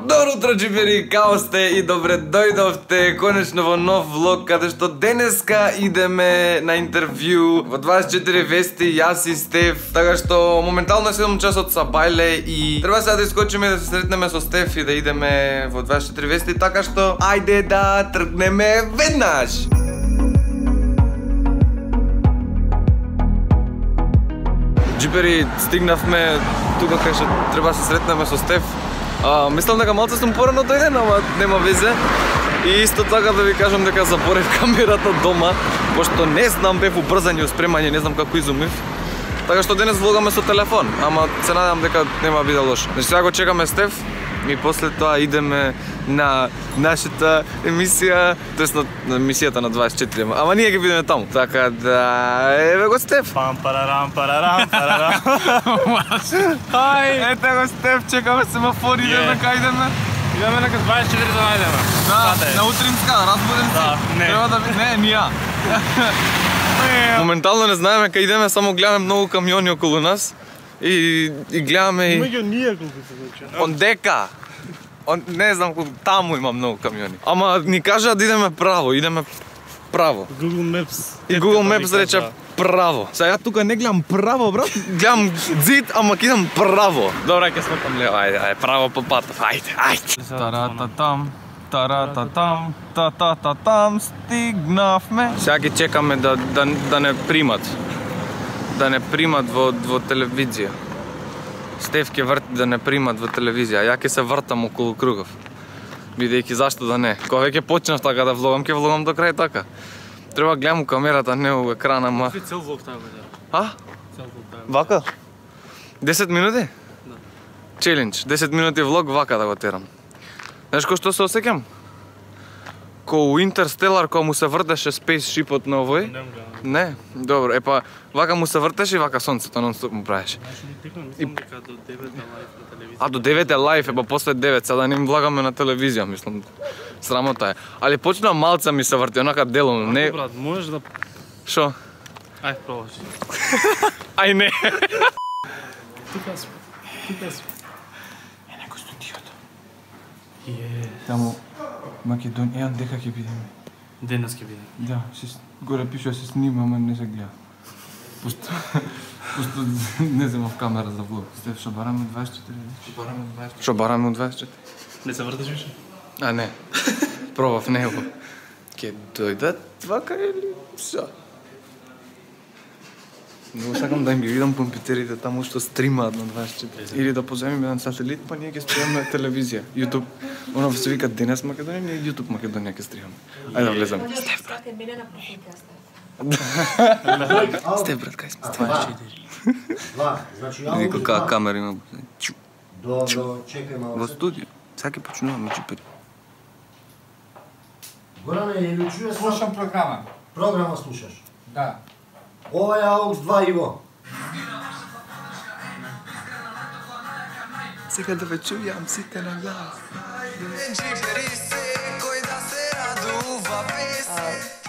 Добро утро, джипери, као сте и добре дојдовте конечно во нов влог, каде што денеска идеме на интервју во 24 вести, јас и Стеф. Така што моментално е 7 часот са бајле и треба сега да искочиме да се сретнеме со Стеф и да идеме во 24 вести, така што ајде да тргнеме веднаш. Джипери, стигнавме тука кај што треба да се сретнеме со Стеф. Мислам дека малце сум порано дојден, ама нема везе. И исто така да ви кажам дека заборев камерата дома, пошто не знам, бев убрзан и спремање, не знам како изумив. Така што денес влогаме со телефон, ама се надевам дека нема биде лошо. Значи сега го чекаме Стеф и после тоа идеме на нашата емисија, тоест на емисијата на 24, ама ние ќе бидеме таму. Така да, еве го Стеф. Пам парарам парарам парарам. Хај, Ете го Стеф, чекаме семафори, идеме кај идеме. Идеме нека 24 да најдеме. Да, на утринска, разбуден си. Да, не. Треба да не, ни ја. Моментално не знаеме кај идеме, само гледаме многу камиони околу нас и гледаме и Меѓу ние колку се случи. Ондека. Не знам колку таму има многу камиони. Ама ни кажа да идеме право, идеме право. Google Maps. И Google Maps рече право. Сега тука не гледам право, брат. Гледам зид, ама кидам право. Добре, ќе смртам лево. Ајде, право по патов. Ајде. Тарататам, тарататам, татататам, стигнавме. Сега ги чекаме да не примат. Да не примат во телевизија. Стеф ќе врти да не примат во телевизија, ја ќе се вртам околу кругов. Бидејќи зашто да не. Кога веќе почнав така да влогам, ќе влогам до крај така. Треба гледам у камерата, не у екрана, ама... Цел влог таа бе. А? Цел влог таа. Вака? 10 минути? Да. Челендж, 10 минути влог вака да го терам. Знаеш кој што се осеќам? Ко у Интерстелар, кога му се вртеше спейсшипот на овој? Не, добро, епа, вака му се вртеше и вака сонцето нон-стоп му правеше. Значи ни текам, мислам дека до 9 на лайф на телевизија. А до 9 е лайф, епа после 9, сега да не им влагаме на телевизија, мислам. Срамота е. Али почна малца ми се врти, онака делом, не... Брат, можеш да... Шо? Ај, пробаш. Ај не. Тука сме. Тука сме. Е, некој студиото. Само Македонија, дека ќе бидеме. денес ќе биде. Да, горе пише се снима, ама не се гледа. Пусто не земав камера за влог. Стеф, шо бараме 24? Шо бараме 24? Не се вртиш више? А не, пробав него. Ке дојдат вака или шо? Много сакам да им ги видам компјутерите таму што стримаат на 24. Или да поземем еден сателит, па ние ќе стримаме телевизија, YouTube. Оно се вика Денес Македонија, ние YouTube Македонија ќе стримаме. Ајде да влеземе. Стеф, брат. Мене на профилка Стеф, брат, кај сме? 24. Значи Види каква камера има. Добро, чекај Во малце. студио. Сега ќе почнуваме джипери. Горане, или чуеш Слушам програма. програма слушаш? Да. Ова е AUX 2 Иво. Сега да ве чујам сите на глас.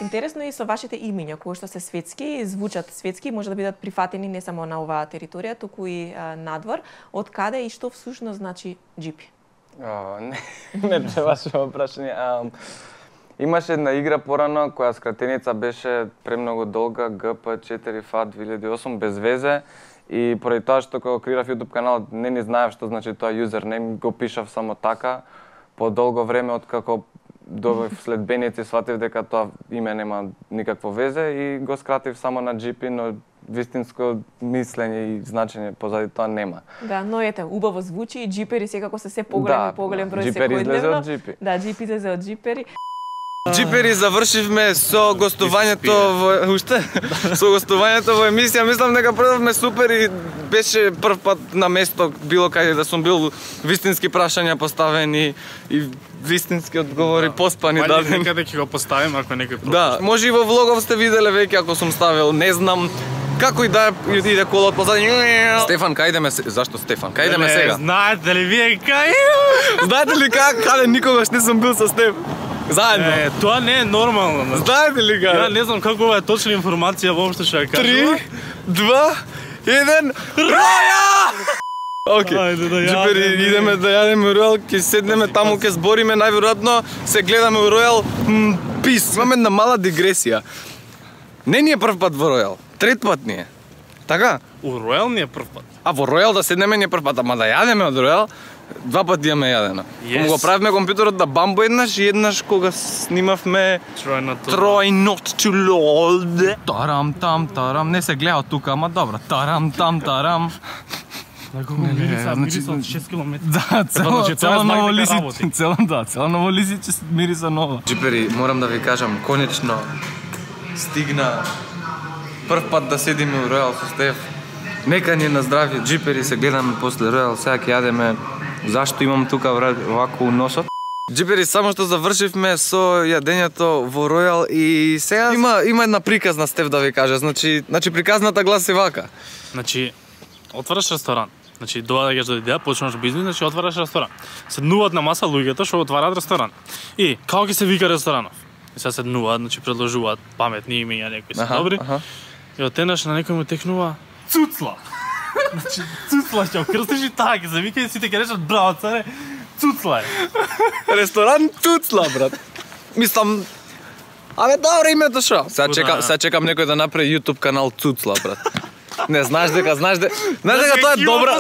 Интересно е и со вашите имиња, кои што се светски, звучат светски, може да бидат прифатени не само на оваа територија, туку и надвор. Од каде и што всушност значи джипи? Не требаше прашање. Имаше една игра порано која скратеница беше премногу долга, GP4FA 2008, без везе. И поради тоа што кога креирав YouTube каналот не ни знаев што значи тоа юзернейм, го пишав само така. По долго време откако добив следбеници, сватив дека тоа име нема никакво везе и го скратив само на GP, но вистинско мислење и значење позади тоа нема. Да, но ете, убаво звучи и джипери секако се поголем и поголем број джипери излезе секојдневно. од джипи. Да, джипи излезе од джипери. Джипери, завршивме со гостувањето во со гостувањето во емисија. Мислам дека продавме супер и беше прв пат на место било каде да сум бил, вистински прашања поставени и вистински одговори поспани дадени. Некаде ќе го поставим ако некој пропушти. Да, може и во влогов сте виделе веќе ако сум ставил, не знам. Како и да иде колот позади. Стефан, кај идеме? Зашто Стефан? Кај идеме сега? Знаете ли вие кај? Знаете ли каде никогаш не сум бил со Стеф? Заедно. Тоа не е нормално. Знаете ли Ја каде? не знам како ова е точна информација воопшто што ја кажува. 3, 2, 1, роја! Окей. Ајде да Джипери, јадеме. идеме да јадеме Ројал, ќе седнеме таму, ќе збориме, најверојатно се гледаме у Ројал. Пис, имаме една мала дигресија. Не ни е прв пат во Ројал, трет пат ни е. Така? У Ројал ни е прв пат. А во Ројал да седнеме ни е прв пат, ама да јадеме од Ројал, два пати имаме јадено. Yes. Го правивме компјутерот на Бамбо еднаш и еднаш кога снимавме Try not to load. Тарам там тарам, не се гледа од тука, ама добро. Тарам там тарам. Неколку мириса од 6 км. Да, значи, тоа е цело знак ново дека лисиче, работи. цело ново лисиче мириса ново. Джипери, морам да ви кажам, конечно стигна прв пат да седиме у Ројал со Стеф. Нека ни е на здравје, джипери, се гледаме после Ројал, сега ќе јадеме. Зашто имам тука вако у носот? Джипери, само што завршивме со јадењето во Ројал и сега има една приказна Стеф да ви кажа. Значи приказната гласи вака. Значи, отвараш ресторан. Значи, доаѓаш до идеја, почнуваш бизнис, значи отвараш ресторан. Седнуваат на маса луѓето што отвараат ресторан. И како ќе се вика ресторанов? И сега седнуваат, значи предложуваат паметни имиња, некои се добри. И отенаш на некој му текнува Цуцла. Значи, Цуцла ќе окрстиш и таа ќе се вика и сите ќе речат браво царе, Цуцла е. Ресторан Цуцла, брат. Мислам, абе добро името шо? Сега чекам некој да направи YouTube канал Цуцла, брат. Не, знаеш дека тоа е добра.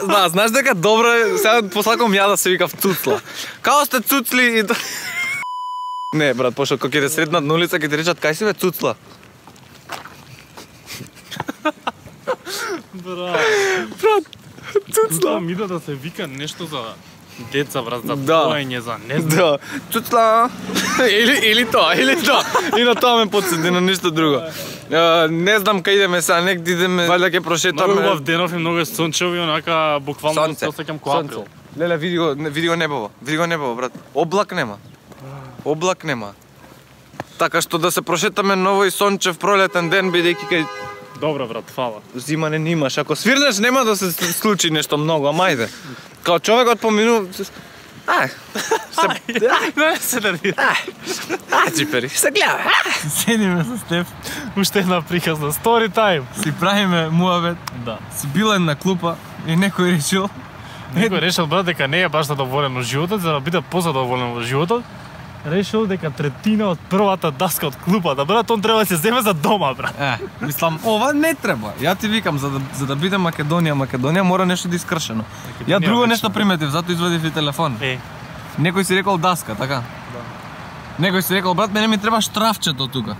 Да, знаеш дека добра, сега посакам ја да се викав Цуцла. Као сте Цуцли и не, брат, пошто кога ќе те сретнат на улица ќе ти речат кај си бе Цуцла. Брат, Цуцла. Мида да се вика нешто за деца, брат, за поење, за не знам. Да, Цуцла. Или тоа. И на тоа ме подсети на ништо друго. Не знам кај идеме сега, некде идеме, валјда ќе прошетаме. Многу убав денов и многу е сончево и онака буквално се осеќам кој април. Леле, види го небово, брат. Облак нема. Така што да се прошетаме ново и сончев пролетен ден, бидејќи кај Добро, брат, фала. зимане немаш. Ако свирнеш нема да се случи нешто многу, ама ајде. Као човекот поминува... Не се нервира. Джипери, се гледа. Седиме со Стеф, уште една приказна story time. Си правиме муавет. Да. Си била една клупа и некој решил. Некој решил, брат, дека не е баш задоволен во животот, за да биде позадоволен во животот. Решил дека третина од првата даска од клупата, брат, он треба да се земе за дома, брат. Мислам, ова не треба. Ја ти викам, за да биде Македонија мора нешто да искршено. Ја друго нешто приметив, затоа извадив и телефон. Некој си рекол даска, така? Да. Некој си рекол, брат, мене ми треба штрафчето тука.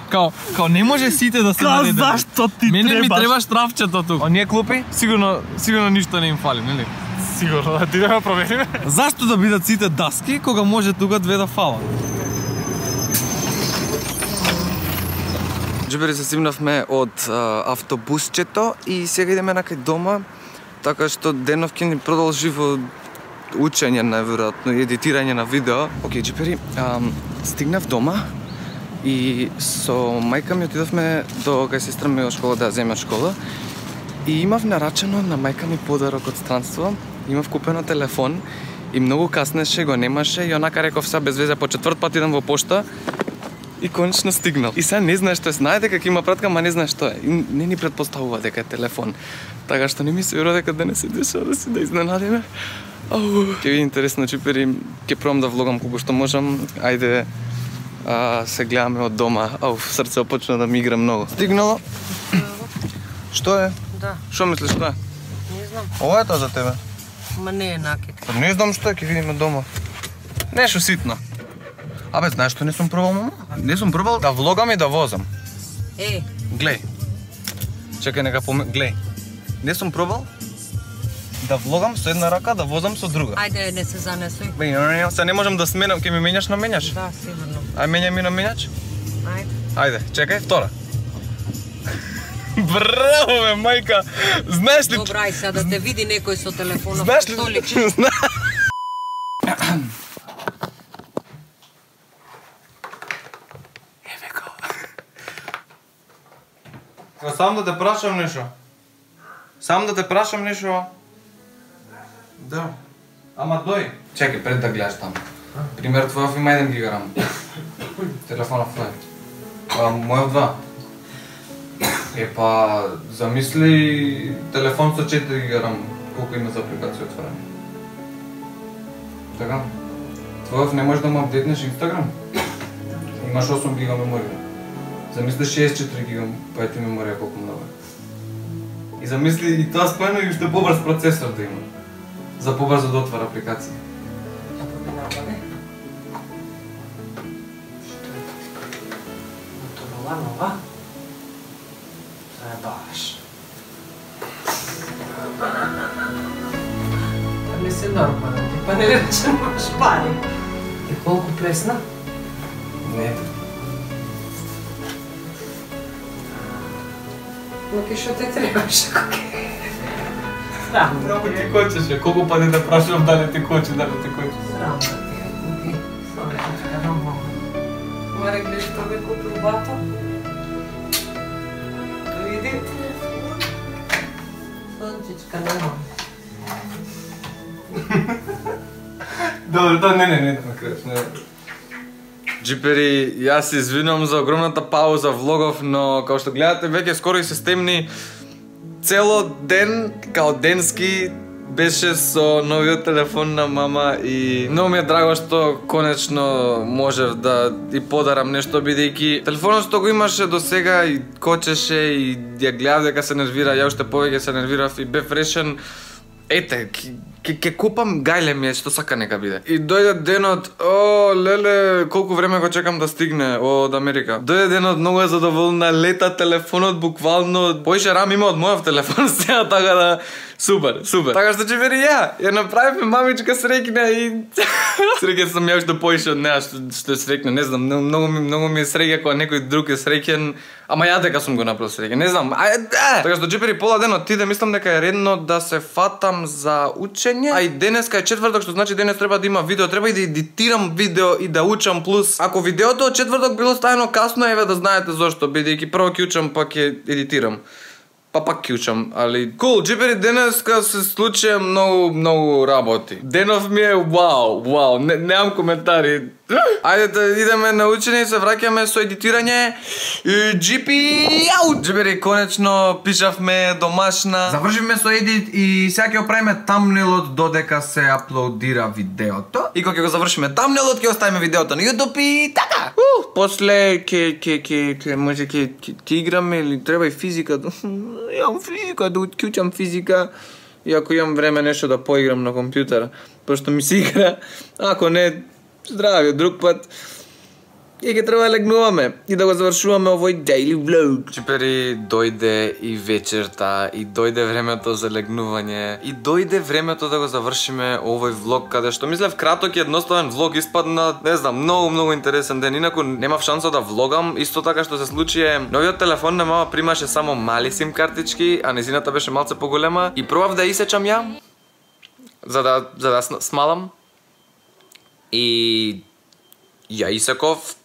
Као не може сите да се наредат. Зашто ти мене требаш? Мене ми треба штрафчето тука. Оние клупи, сигурно ништо не им фали, нели? Сигурно, да ти да провериме. Зашто да бидат сите даски, кога може тука две да фалат? Джибери, се симнавме од автобусчето и сега идеме на кај дома, така што денов ќе ни продолжи во учење, најверојатно, и едитирање на видео. Океј, Джибери, стигнав дома и со мајка ми отидовме до кај сестра ми во школа да земе школа и имав нарачено на мајка ми подарок од странство. Имав купено телефон и многу каснеше, го немаше и онака реков сега без везе по четврт пат идам во пошта и конечно стигнал. И сега не знае што е, знае дека ќе има пратка, ама не знае што е. И не ни претпоставува дека е телефон. Така што не ми се верува дека денес се деша да се да изненадиме. Ќе ви интересно, Джипери, ќе пробам да влогам колку што можам. Ајде, се гледаме од дома. Срце почна да ми игра многу. Стигнало. Што е? Да. Што мислиш што е? Не знам. Ова е тоа за тебе? Ма не е накет. Не знам што е, ќе видиме дома. Нешто ситно. Абе, знаеш што не сум пробал, мама? Не сум пробал да влогам и да возам. Глеј. Чекај, нека глеј. Не сум пробал да влогам со една рака, да возам со друга. Ајде, не се занесуј. Се не можам да сменам, ќе ми менјаш на менјаш? Да, сигурно. Ај менјај ми на менјач? Ајде. Ајде, чекај, втора. Браво, бе, мајка! Знаеш ли... Добра, ај сега да те види некој со телефонот. Знаеш ли... Еве го. Сам да те прашам нешто. Да. Ама дој. Чекај, пред да гледаш таму. Пример твојов има 1 гигарам. Телефонов твој. Мојов 2. Па, замисли телефон со 4 гигабайта, колку има за апликација отворена. Така? Твојов не можеш да му апдейтнеш Инстаграм? Имаш 8 гига меморија. Замисли 64 гигабайти меморија колку много е. И замисли и тоа споено и уште побрз процесор да има. За побрзо да отвара апликација. Нова? Баш. Па не се нормално, па не речем шпари. И колку пресна? Не. Луки, што те требаше, коке? Срам да Много ти кочеше, колку пати да прашувам дали ти кочи, дали ти кочи. Срам да ти е, Луки. Сонечка, не мога. Море, гледаш, што ме купил бато? Види? Сончичка, не мога. Добро, тоа не на крај, не. Джипери, јас се извинувам за огромната пауза влогов, но како што гледате веќе скоро и се стемни. Цело ден, као денски, беше со новиот телефон на мама и многу ми е драго што конечно можев да и подарам нешто, бидејќи телефонот што го имаше до сега и кочеше и ја гледав дека се нервира, ја уште повеќе се нервирав и бев решен, ете, ќе купам гајле ми е што сака нека биде. И дојде денот, леле, колку време го чекам да стигне од Америка. Дојде денот, многу е задоволна, лета телефонот буквално поише рам има од мојов телефон сега, така да супер. Така што Джипери ја направивме мамичка среќна и среќен сум ја што поише од неа што е среќна, не знам, многу ми е среќа кога некој друг е среќен, ама ја дека сум го направил среќен, не знам. Така што Джипери пола денот ти да мислам дека е редно да се фатам за учење, а и денеска е четврток, што значи денес треба да има видео, треба и да едитирам видео и да учам плюс. Ако видеото од четврток било ставено касно, еве да знаете зошто, бидејќи прво ќе учам па ќе едитирам. Па пак ќе учам, али кул, Джипери, денеска се случи многу работи. Денов ми е вау, немам коментари. Ајде да идеме на учење и се враќаме со едитирање. Джипери, конечно пишавме домашна. Завршивме со едит и сега ќе оправиме тамнелот додека се аплодира видеото. И кога ќе го завршиме тамнелот, ќе оставиме видеото на YouTube и така. После ќе може ќе играме или треба и физика. Јам физика, да учам физика. И ако имам време нешто да поиграм на компјутер, пошто ми се игра, ако не, здрави, друг пат. И ќе треба да легнуваме и да го завршуваме овој daily vlog. Джипери, дојде и вечерта, и дојде времето за легнување, и дојде времето да го завршиме овој влог, каде што мислев краток и едноставен влог испадна, не знам, многу интересен ден. Инаку немав шанса да влогам. Исто така што се случи е, новиот телефон на мама примаше само мали сим картички, а незината беше малце поголема и пробав да исечам ја за да смалам. И ја исеков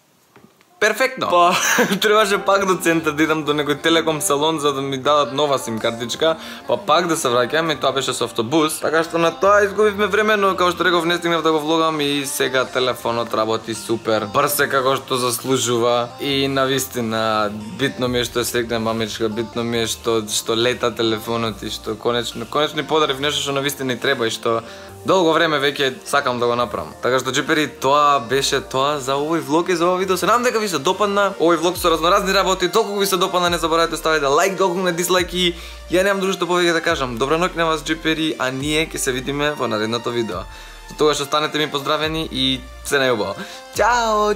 перфектно. Па, требаше пак до центар да идам до некој телеком салон за да ми дадат нова сим картичка, па пак да се враќам и тоа беше со автобус. Така што на тоа изгубивме време, но како што реков не стигнав да го влогам и сега телефонот работи супер. Брз е како што заслужува и навистина битно ми е што е срекна мамичка, битно ми е што лета телефонот и што конечно подарив нешто што навистина и треба и што долго време веќе сакам да го направам. Така што Джипери, тоа беше тоа за овој влог и за овој видео. Се надам дека ви се допадна овој влог со разноразни работи. Толку ви се допадна, не заборавајте ставите лайк, долку на дислайк и ја немам друго што повеќе да кажам. Добра ноќ на вас, Джипери, а ние ќе се видиме во наредното видео. За тогаш останете ми поздравени и се најубаво. Чао!